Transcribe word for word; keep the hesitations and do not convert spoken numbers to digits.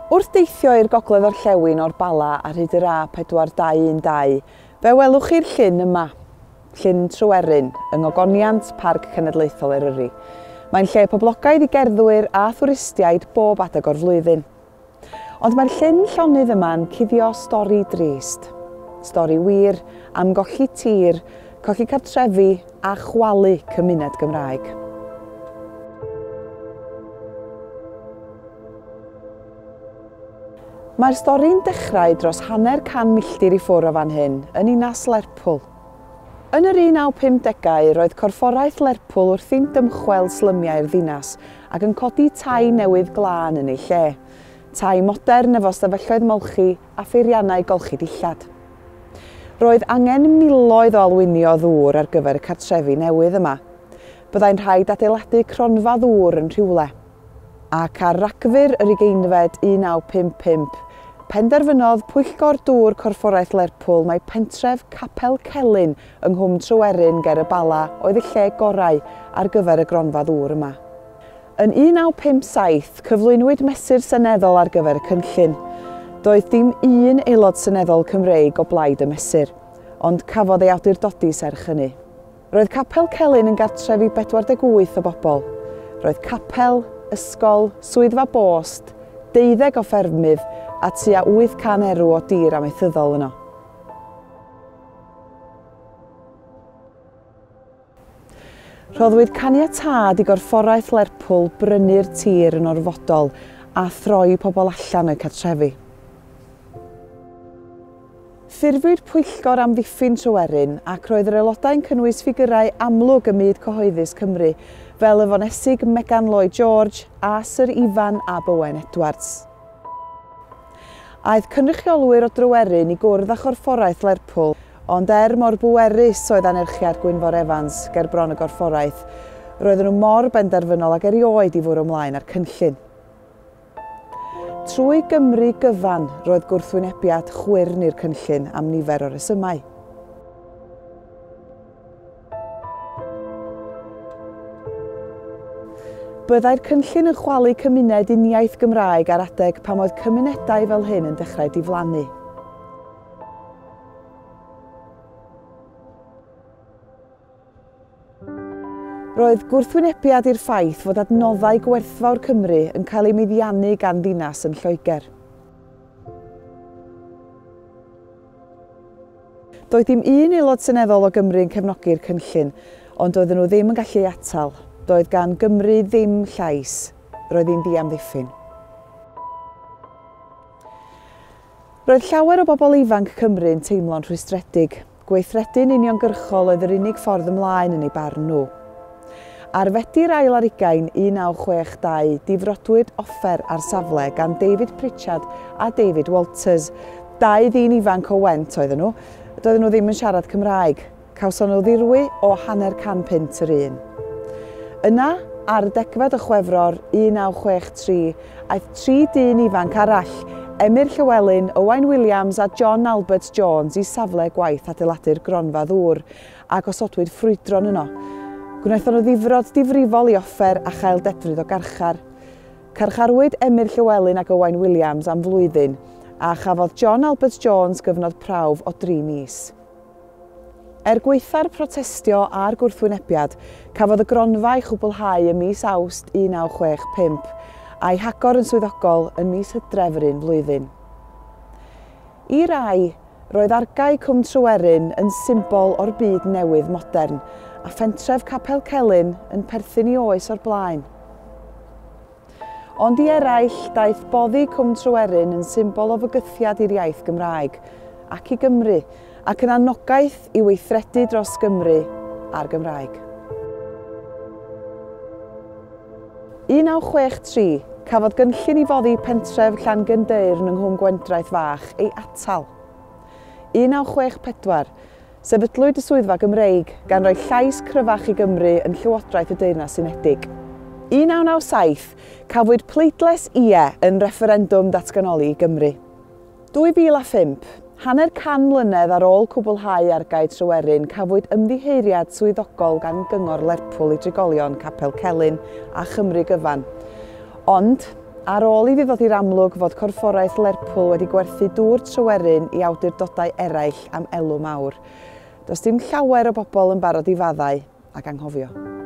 Wrth deithio i'r gogledd orllewin o'r Bala ar hyd yr A pedwar dau un dau, fe welwch chi'r llyn yma, Llyn Tryweryn, yng Ngogoniant Parc Cenedlaethol Eryri. Mae'n lle poblogaidd i gerddwyr a thwristiaid bob adeg o'r flwyddyn. Ond mae'r llyn llonydd yma'n cuddio stori drist. Stori wir am golli tir, colli cartrefi a chwalu cymuned Gymraeg. Mae'r stori'n dechrau dros hanner can milltir i ffwrdd o fan hyn, yn ninas Lerpwl. Yn yr un naw pum degau, roedd corfforaeth Lerpwl wrthi'n dymchwel slymiau'r ddinas ac yn codi tai newydd glân yn ei lle. Tai modern efo stafelloedd molchi a pheiriannau golchi dillad. Roedd angen miloedd o alwynio ddŵr ar gyfer y cartrefi newydd yma. Byddai'n rhaid adeiladu cronfa ddŵr yn rhywle. Ac ar Ragfyr yr ugeinfed un naw pump pump, penderfynodd Pwyllgor Dŵr Corfforaeth Lerpwl mai pentref Capel Celyn yng Nghwm Tryweryn ger y Bala oedd y lle gorau ar gyfer y gronfa ddŵr yma. Yn un naw pump saith, cyflwynwyd mesur seneddol ar gyfer y cynllun. Doedd dim un aelod seneddol Cymreig o blaid y mesur, ond cafodd ei awdurdodi serch hynny. Roedd Capel Celyn yn gartref i bedwar deg wyth o bobl. Roedd capel, ysgol, swyddfa bost, deuddeg o ffermydd a tua wyth can erw o dir amaethyddol yno. Rhoddwyd caniatâd i gorfforaeth Lerpwl brynu'r tir yn orfodol a throi pobl allan o'u cartrefi. Ffurfwyd pwyllgor amddiffyn Tryweryn ac roedd yr aelodau'n cynnwys ffigurau amlwg ym myd cyhoeddus Cymru, fel y fonesig Megan Lloyd George a Syr Ifan ab Owen Edwards. Aeth cynrychiolwyr o Dryweryn i gwrdd â chorfforaeth Lerpwl, ond er mor bwerus oedd anerchiad Gwynfor Evans ger bron y gorfforaeth, roedden nhw mor benderfynol ag erioed i fwrw ymlaen â'r cynllun. Trwy Gymru gyfan roedd gwrthwynebiad chwyrn i'r cynllun am nifer o resymau. Byddai'r cynllun yn chwalu cymuned uniaith Gymraeg ar adeg pan oedd cymunedau fel hyn yn dechrau diflannu. Roedd gwrthwynebiad i'r ffaith fod adnoddau gwerthfawr Cymru yn cael eu meddiannu gan ddinas yn Lloegr. Doedd dim un aelod seneddol o Gymru yn cefnogi'r cynllun, ond doedden nhw ddim yn gallu ei atal. Doedd gan Gymru ddim llais. Roedd hi'n ddiamddiffyn. Roedd llawer o bobl ifanc Cymru yn teimlo'n rhwystredig. Gweithredu'n uniongyrchol oedd yr unig ffordd ymlaen yn eu barn nhw. Ar Fedi'r ail ar hugain un naw chwech dau, difrodwyd offer ar safle gan David Pritchard a David Walters. Dau ddyn ifanc o Went oedden nhw. Doedden nhw ddim yn siarad Cymraeg. Cawson nhw ddirwy o hanner can punt yr un. Yna, ar y degfed o Chwefror un naw chwech tri, aeth tri dyn ifanc arall, Emyr Llywelyn, Owain Williams a John Albert Jones i safle gwaith adeiladu'r gronfa ddŵr a gosodwyd ffrwydron yno. Gwnaethon nhw ddifrod difrifol i offer a chael dedfryd o garchar. Carcharwyd Emyr Llywelyn ac Owain Williams am flwyddyn a chafodd John Albert Jones gyfnod prawf o dri mis. Er gwaetha'r protestio a'r gwrthwynebiad, cafodd y gronfa ei chwblhau ym mis Awst un naw chwech pump a'i hagor yn swyddogol yn mis Hydref yr un flwyddyn. I rai, roedd argae Cwm Tryweryn yn symbol o'r byd newydd modern a phentref Capel Celyn yn perthyn i oes o'r blaen. Ond i eraill, daeth boddi Cwm Tryweryn yn symbol o fygythiad i'r iaith Gymraeg ac i Gymru, ac yn anogaeth i weithredu dros Gymru a'r Gymraeg. un naw chwech tri, cafodd gynllun i foddi pentref Llangynddeyrn yng Nghwm Gwendraeth Fach ei atal. un naw chwech pedwar, sefydlwyd y Swyddfa Gymreig gan roi llais cryfach i Gymru yn Llywodraeth y Deyrnas Unedig. un naw naw saith, cafwyd pleidlais ie yn refferendwm datganoli i Gymru. dwy fil a phump, hanner can mlynedd ar ôl cwblhau argae Tryweryn, cafwyd ymddiheuriad swyddogol gan Gyngor Lerpwl i drigolion Capel Celyn a Chymru gyfan. Ond, Ar ôl iddi ddod i'r amlwg fod Corfforaeth Lerpwl wedi gwerthu dŵr Tryweryn i awdurdodau eraill am elw mawr. Does dim llawer o bobl yn barod i faddau ac anghofio.